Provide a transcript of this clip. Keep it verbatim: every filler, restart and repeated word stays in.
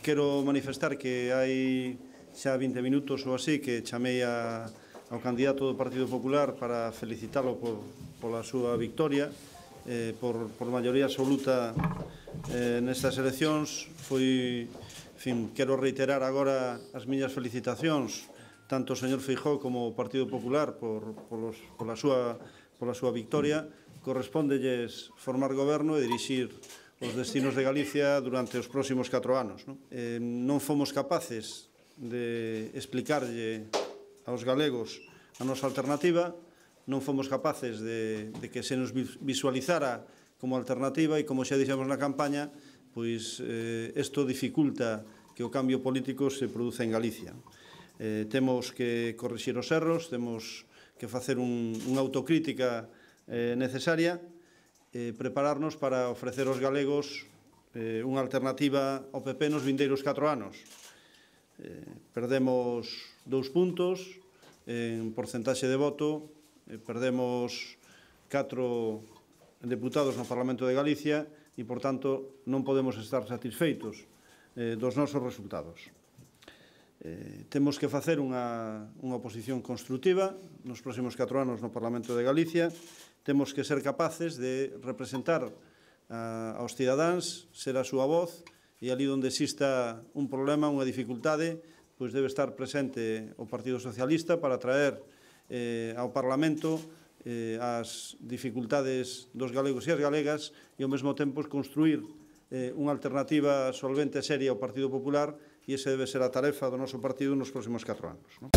quero manifestar que hai xa vinte minutos ou así que chamei a, ao candidato do Partido Popular para felicitalo por, pola súa victoria, eh, por, por maioría absoluta eh, nestas eleccións. Foi, en fin, quero reiterar agora as miñas felicitacións tanto o señor Feijóo como o Partido Popular por, polos, pola, súa, pola súa victoria. Correspóndelles formar goberno e dirixir os destinos de Galicia durante os próximos catro anos. Non, eh, non fomos capaces de explicarlle aos galegos a nosa alternativa, non fomos capaces de, de que se nos visualizara como alternativa e, como xa dixemos na campaña, pois eh, isto dificulta que o cambio político se produza en Galicia. Eh, temos que corrixir os erros, temos que facer un, unha autocrítica eh, necesaria, Eh, prepararnos para ofrecer aos galegos eh, unha alternativa ao P P nos vindeiros catro anos. Eh, perdemos dous puntos en porcentaxe de voto, eh, perdemos catro deputados no Parlamento de Galicia e, por tanto, non podemos estar satisfeitos eh, dos nosos resultados. Eh, temos que facer unha, unha oposición constructiva nos próximos catro anos no Parlamento de Galicia. Temos que ser capaces de representar a, aos cidadáns, ser a súa voz, e ali onde exista un problema, unha dificultade, pois debe estar presente o Partido Socialista para traer eh, ao Parlamento eh, as dificultades dos galegos e as galegas e ao mesmo tempo construir eh, unha alternativa solvente e seria ao Partido Popular, e esa debe ser a tarefa do noso partido nos próximos catro anos. Non?